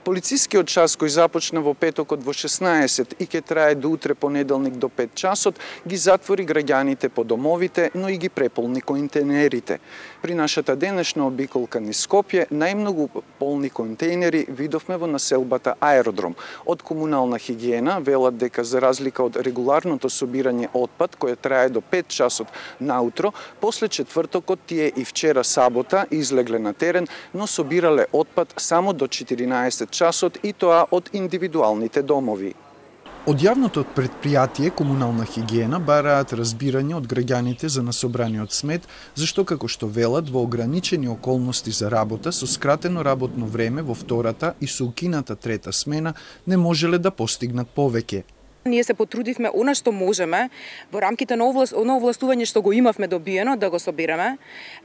Полицискиот час кој започна во петокот во 16 и ќе трае до утре понеделник до 5 часот, ги затвори граѓаните по домовите, но и ги преполни контейнерите. При нашата денешна обиколка низ Скопје, најмногу полни контейнери видовме во населбата Аеродром. Од комунална хигиена велат дека за разлика од регуларното собирање отпад, кое трае до 5 часот наутро, после четвртокот тие и вчера сабота излегле на терен, но собирале отпад само до 14 часот и тоа од индивидуалните домови. Од јавното предпријатие Комунална хигиена бараат разбирање од граѓаните за насобраниот смет, зашто како што велат во ограничени околности за работа со скратено работно време во втората и со укината трета смена не можеле да постигнат повеќе. Ние се потрудивме она што можеме во рамките на овластување што го имавме добиено да го собираме.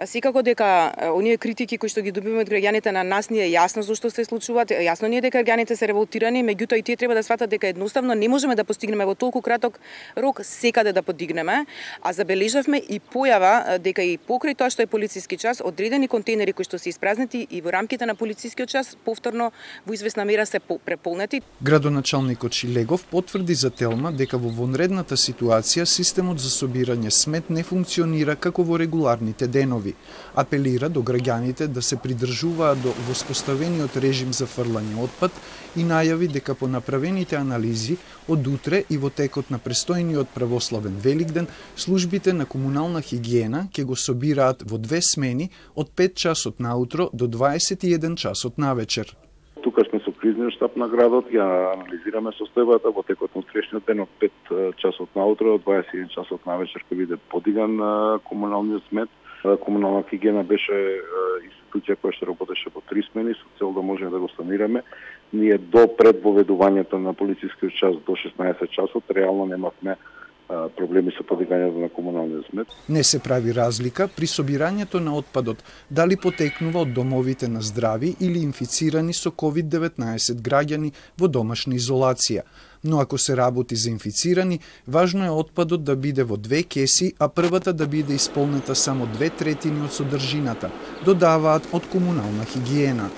Секако дека оние критики кои што ги добиваме од граѓаните на нас ни е јасно зошто се случуваат. Јасно ни е дека граѓаните се револтирани, меѓутоа и тие треба да сватат дека едноставно не можеме да постигнеме во толку краток рок секаде да подигнеме, а забележавме и појава дека и покрај тоа што е полициски час, одредени контейнери кои што се испразнети и во рамките на полицискиот час повторно во извесна мера се преполнети. Градоначалникот Шилегов потврди за Телма дека во вонредната ситуација системот за собирање смет не функционира како во регуларните денови. Апелира до граѓаните да се придржуваат до воспоставениот режим за фрлање отпад и најави дека по направените анализи од утре и во текот на престојниот православен Великден службите на Комунална хигиена ќе го собираат во 2 смени од 5 часот наутро до 21 часот навечер. Тука сме со кризниот штаб на градот, ја анализираме состојбата во текот на утрешниот ден од 5 часот наутро до 21 часот навечер ќе биде подиган комуналниот смет. Комунална хигиена беше институција која што работеше по 3 смени со цел да можеме да го санираме. Ние до предвоведувањето на полицискиот час до 16 часот реално немавме проблеми со подигањето на комуналниот смет. Не се прави разлика при собирањето на отпадот дали потекнува од домовите на здрави или инфицирани со COVID-19 граѓани во домашна изолација. Но ако се работи за инфицирани, важно е отпадот да биде во 2 кеси, а првата да биде исполнета само 2/3 од содржината, додаваат од Комунална хигиена.